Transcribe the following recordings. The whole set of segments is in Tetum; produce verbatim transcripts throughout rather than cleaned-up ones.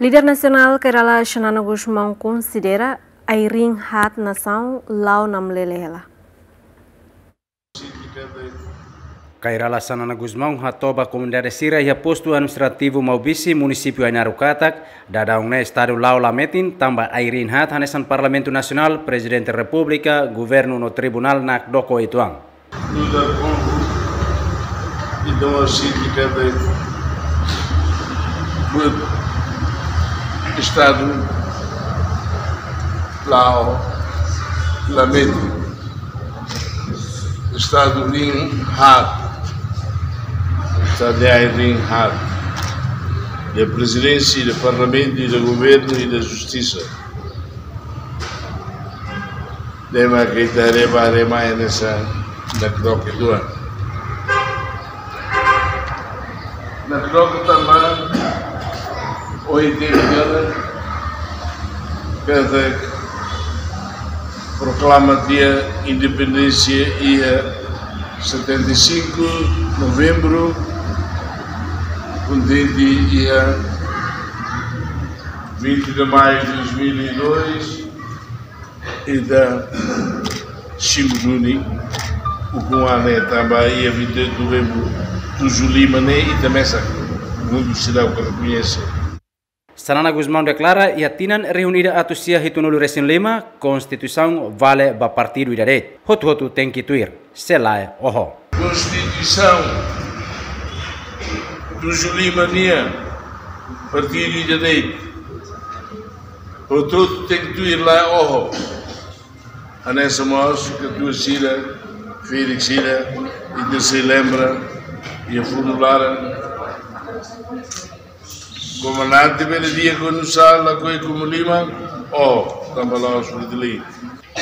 Líder nasionál Kay Rala Xanana Gusmão konsidera ai-riin haat nasaun la'o namlele hela. Kay Rala Xanana Gusmão hato'o ba komunidade sira iha postu administrativu Maubisse, munisípiu Ainaro katak, daudaun ne'e estadu la'o la metin, tanba ai-riin haat hanesan Parlamentu Nasionál, Prezidente Repúblika, Governu no Tribunál nakdoko uitoan. Nu'udar povu, entaun, ha'u sente katak buat estadu la'o la metin. Estadu riin haat. Estadu de ai-riin haat. Da Prezidénsia, da Parlamentu, da Governu i da Justisa. Ne'e mak ita haree ba haree mai hanesan nakdoko uitoan. Nakdoko tanba ohin temi katak proklama tiha independénsia iha setenta e cinco Novembru, kontente iha vinte de Maio de dois mil e dois, ita simu duni ukun-an ne'e tanba iha vinte e oito de Novembru tuju lima ne'e ita mesak, mundu seidauk rekoñese. Xanana Gusmão deklara, iha tinan rihun ida atus sia hitunulu resin lima, Konstituisaun vale ba partidu ida de'it. Hotu-hotu tenke tuir, se lae oho. Konstituisaun tuju lima nian, partidu ida de'it. Hotu-hotu tenke tuir, lae oho. Hanesan mós katuas sira, ferik sira, ita sei lembra, iha funu laran. Komandante bele dehan kuandu sa'e lakohi komu liman, oho, tanba la'ós Fretilin.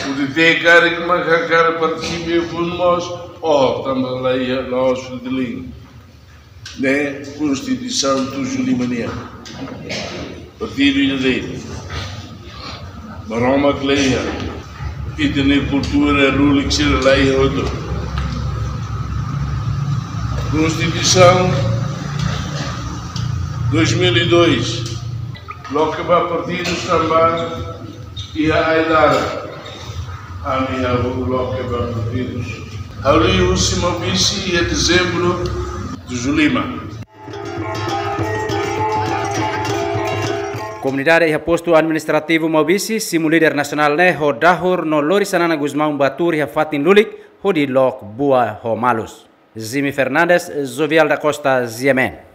U D T karik mak hakarak partisipa iha funu mós, oho, tanba la iha, la'ós Fretilin. Ne'e Konstituisaun tuju lima nian. Partidu ida de'it. Maromak la iha. Ita-nia kultura, lulik sira la iha hotu. Konstituisaun dois mil e dois. Loke ba partidus tanba iha ai-laran. Ami hahú loke ba partidus. Ha'u liu husi Maubisse iha Dezembru tuju lima. Komunidade iha postu administrativu Maubisse simu líder nasionál ne'e ho dahur no lori Xanana Gusmão ba tuur iha fatin lulik hodi loke buat ho malus. Jimmy Fernandes, Jovial da Costa, G M N.